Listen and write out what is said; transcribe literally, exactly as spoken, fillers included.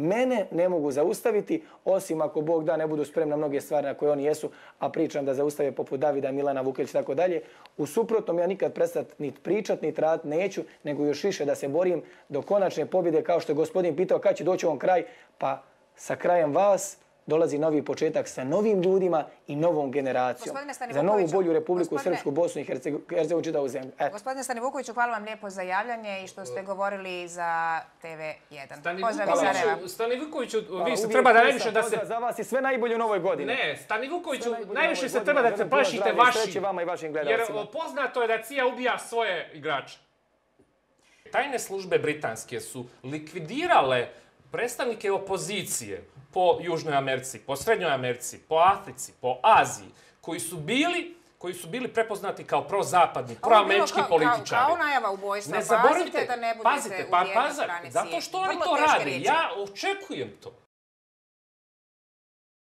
mene ne mogu zaustaviti, osim ako Bog da ne budu spremni na mnoge stvari na koje oni jesu, a pričam da zaustave poput Davida, Milana Vukelić i tako dalje. U suprotnom ja nikad prestati niti pričat, niti raditi neću, nego još više da se borim do konačne pobjede, kao što je gospodin pitao kad će doći on kraj, pa sa krajem vas dolazi novi početak sa novim ljudima i novom generacijom. Za novu bolju Republiku Srpsku, Bosnu i Hercegovinu, čitavu zemlju. Gospodine Stanivukoviću, hvala vam lijepo za javljanje i što ste govorili za T V jedan. Stanivukoviću, vi se treba da najviše da se... Za vas je sve najbolje u novoj godini. Ne, Stanivukoviću, najviše se treba da se plašite vašim. Jer poznato je da C I A ubija svoje igrače. Tajne službe britanske su likvidirale predstavnike opozicije po Južnoj Americi, po Srednjoj Americi, po Africi, po Aziji, koji su bili koji su bili prepoznati kao prozapadni, proamerički političari. Kao najava ubojstva. Ne zaboravite da ne budete u jednoj stranici. Zato što oni to rade. Ja očekujem to.